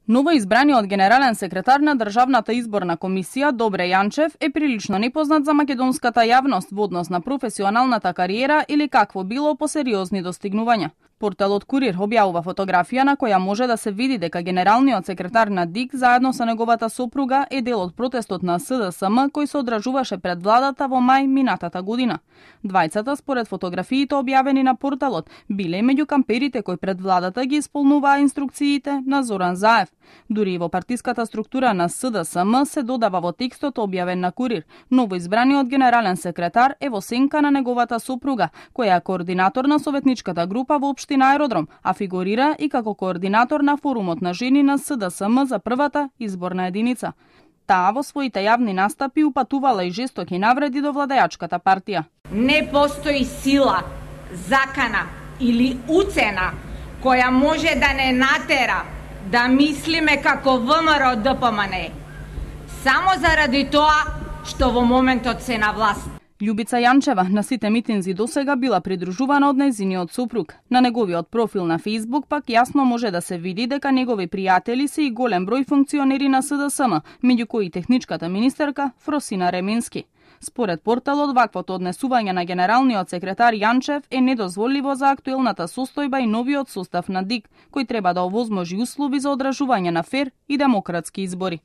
Новоизбраниот генерален секретар на Државната изборна комисија Добре Јанчев е прилично непознат за македонската јавност во однос на професионалната кариера или какво било по сериозни достигнувања. Порталот Курир објавува фотографија на која може да се види дека генералниот секретар на ДИК заедно со неговата сопруга е дел од протестот на СДСМ кој се одржуваше пред владата во мај минатата година. Двајцата, според фотографиите објавени на порталот, биле меѓу камперите кои пред владата ги исполнуваа инструкциите на Зоран Заев. Дури и во партиската структура на СДСМ се додава во текстот објавен на Курир: новоизбраниот генерален секретар е во сенка на неговата сопруга, која е координатор на советничката група во општина Аеродром, а фигурира и како координатор на форумот на жени на СДСМ за првата изборна единица. Таа во своите јавни настапи упатувала и жестоки навреди до владеачката партија. Не постои сила, закана или уцена која може да не натера да мислиме како ВМРО ДПМН, само заради тоа што во моментот се на власт. Љубица Јанчева на сите митинзи досега била придружувана од нејзиниот сопруг. На неговиот профил на Facebook пак јасно може да се види дека негови пријатели се и голем број функционери на СДСМ, меѓу кои техничката министерка Фросина Ремински. Според порталот, ваквото однесување на генералниот секретар Јанчев е недозволиво за актуелната состојба и новиот состав на ДИК, кој треба да овозможи услови за одржување на фер и демократски избори.